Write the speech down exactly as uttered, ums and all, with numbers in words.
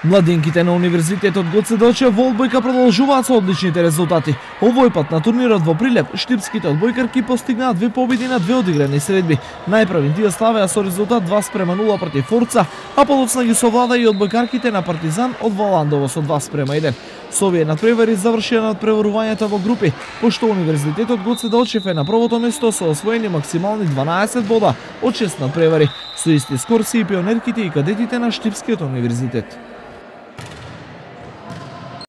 Младинките на Универзитетот Гоце Делчев во одбојка продолжуваат со одличните резултати. Овој пат на турнирот во Прилеп, штипските одбојкарки постигнаа две победи на две одиграни средби. Најпрви тие славеа со резултат два спрема нула против Форца, а подоцна ги совлада и одбојкарките на Партизан од Валандово со два спрема еден. Со овие надпревари завршија надпреварувањето во групи, пошто Универзитетот Гоце Делчев е на првото место со освоени максимални дванаесет бода од шест надпревари. Со исти скор се и пионерките и кадетите на Штипскиот универзитет.